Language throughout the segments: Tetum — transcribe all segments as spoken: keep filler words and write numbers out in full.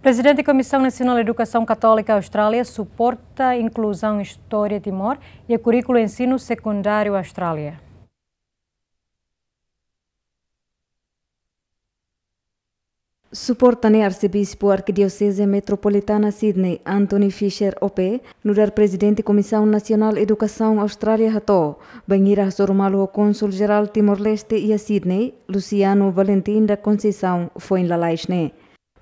Prezidente Komisaun Nasionál Edukasaun Katólika Austrália suporta inkluzaun Istória Timor iha kurríkulu ensinu sekundáriu Austrália. Suporta ne'e Arsebispu Arkidioseze Metropolitana Sydney, Anthony Fisher O P, nu'udar Prezidente Komisaun Nasionál Edukasaun Austrália hato'o, bainhira hasoru malu ho Kónsul Jerál Timor-Leste iha Sydney, Luciano Valentim da Conceição, foin lalais ne'e.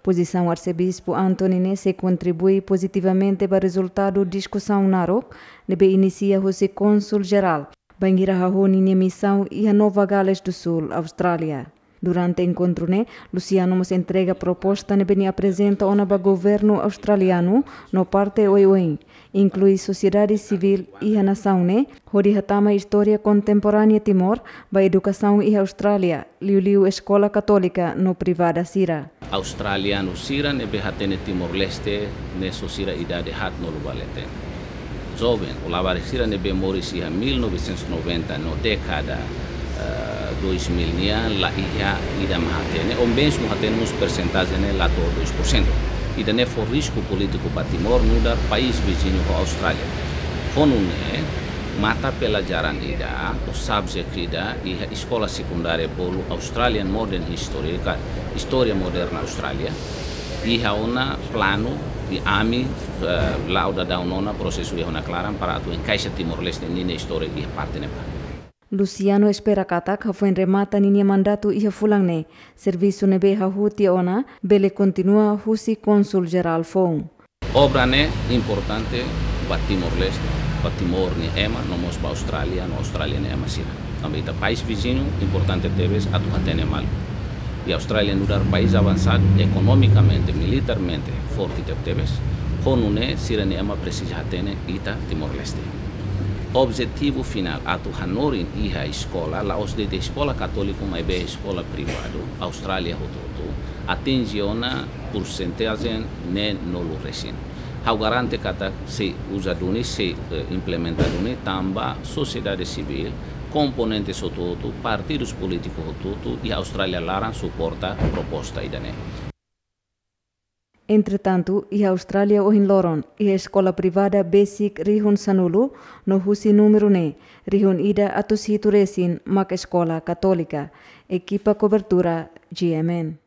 Pozisaun Arsebispu Anthony ne'e sei kontribui pozitivamente ba rezultadu diskusaun naruk ne'ebé inisia husi Kónsul Jerál, bainhira hahú ninia misaun iha Nova Gales do Sul, Austrália. Durante enkontru ne'e, Luciano mós entrega proposta ne'ebé nia aprezenta ona ba governu australianu no parte oioin, inklui sosiedade sivíl iha nasaun ne'e, hodi hatama istória kontemporánea Timor ba edukasaun iha Austrália, liuliu eskola katólika no privada sira. Australianu sira ne'ebé hatene Timor-Leste ne'e só sira idade haatnulu ba leten. Joven, ou labarik sira ne'ebé moris iha mil novecentos e noventa no dékada, eh, dois mil nian, la iha ida mak hatene, ou mezmu hatene mós persentajen ne'e la to'o dois por cento. Ida-ne'e fó risku polítiku ba Timor nu'udar país viziñu ho Austrália. Ho nune'e, mata pelajaran ida, ou subject ida, iha eskola sekundária bolu Australian Modern History, ka istória moderna Austrália, iha ona planu, i ami, eh, la'o daudaun ona prosesu iha ona klaran para atu enkaixa Timor-Leste ninia istória iha parte ne'ebá. Luciano espera katak hafoin remata ninia mandatu iha fulan ne'e, servisu ne'ebé hahú tiha ona bele kontinua husi Kónsul Jerál foun. Obra ne'e importante ba Timor-Leste, ba Timor nia ema, no mós ba Austrália, no Austrália nia ema sira. Tanba ita país viziñu importante tebes atu hatene malu. I Austrália nu'udar país avansadu ekonomikamente, militarmente forte tebetebes, ho nune'e sira-nia ema presiza hatene ita Timor-Leste. Objetivu finál atu hanorin iha eskola, la'ós de'it eskola katólika, maibé eskola privadu, Austrália hotu-hotu, atinje ona porsentajen neen-nulu resin. Ha'u garante katak sei uza duni, sei, eh, implementa duni, tanba sosiedade sivíl, komponente hotu-hotu, partidus polítiku hotu-hotu iha Austrália laran suporta proposta ida-ne'e. Entretantu, iha Austrália ohin loron, iha eskola privada besik rihun sanulu, no husi númeru ne'e, rihun ida atus hitu resin mak eskola katólika. Ekipa kobertura, G M N.